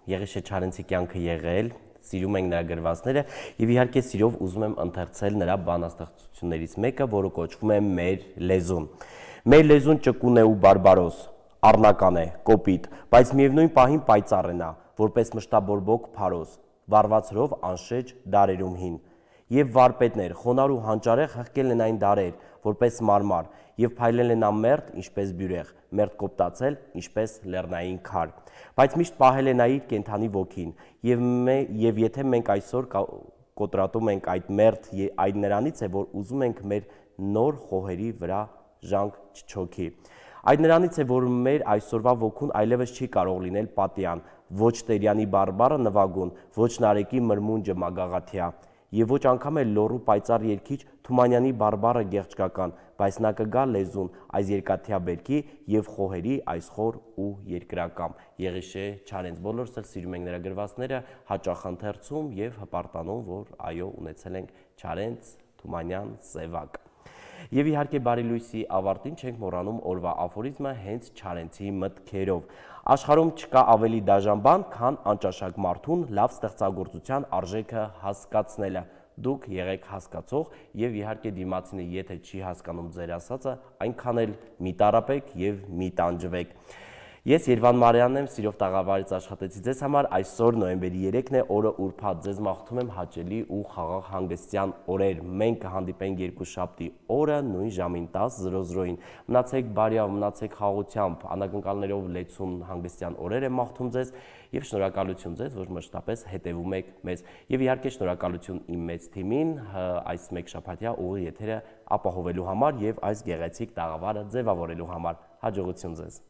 Եղիշե Չարենցի կյանքը եղել, սիրում ենք նրա գրվածները եւ իհարկե սիրով ուզում եմ ընթերցել նրա բանաստեղծություններից մեկը, որը կոչվում է Մեր լեզուն։ Մեր լեզուն ճկուն է ու բարբարոս, առնական է, կոպիտ, բայց միևնույն պահին պայծառ է նա, որպես մշտաբորբոք փարոս, վառվածրով անշեջ դարերում հին։ Եվ վարպետներ, խոնար ու հանճարեղ հղկել են այն դարեր, որպես մարմար, եւ փայլել են ամերտ, ինչպես բյուրեղ, մերտ կոպտացել, ինչպես լեռնային քար։ Բայց միշտ պահել է նա իր կենթանի ոգին, եւ եւ եթե մենք այսօր կոտրատում ենք այդ մերտ, այդ նրանից է, որ ուզում ենք մեր նոր խոհերի վրա ժանկ չչոքի։ Այդ նրանից է, որ մեր այսօրվա ոգուն այլևս չի կարող լինել պատյան, ոչ Տերյանի բարբառը նվագուն, ոչ Նարեկի մրմունջը մագաղաթյա, եւ ոչ անգամ էլ լոռու պայծառ երգիչ Թումանյանի բարբառը գեղչկական, բայց նա կգա լեզուն այս երկաթյա բերքի եւ խոհերի այս խոր ու երկրակամ։ Եղիշե Չարենց, բոլորս էլ սիրում ենք նրա գրվածները, հաճախ ընթերցում եւ հպարտանում, որ այո, ունեցել ենք Չարենց Թումանյան սևակ։ Եվ իհարկե բարի լույսի ավարտին չենք մոռանում օրվա աֆորիզմը հենց Չարենցի մտքերով։ Աշխարհում չկա ավելի դաժան բան, քան անճաշակ մարդուն լավ ստեղծագործության արժեքը հասկացնելը։ Դուք եղեք հասկացող եւ իհարկե դիմացինը եթե չի հասկանում ձեր ասածը, այնքան էլ մի տարապեք եւ մի տանջվեք։ Ես Երվան Մարյանն եմ, սիրով տաղավարից աշխատեցի ձեզ համար, այսօր նոյեմբերի երեքն է, օրը ուրբաթ, ձեզ մաղթում եմ հաճելի ու խաղաղ հանգստյան օրեր, մենք կհանդիպենք երկուշաբթի օրը նույն ժամին տասը մնացեք բարյավ, մնացեք խաղաղությամբ, անակնկալներով լեցուն հանգստյան օրեր եմ մաղթում ձեզ եւ շնորհակալություն ձեզ, որ մշտապես հետևում եք մեզ եւ իհարկե շնորհակալություն իմ մեծ թիմին այս մեկ շաբաթյա ուղիղ եթերը ապահովելու համար եւ այս գեղեցիկ տաղավարը ձևավորելու համար, հաջողություն ձեզ։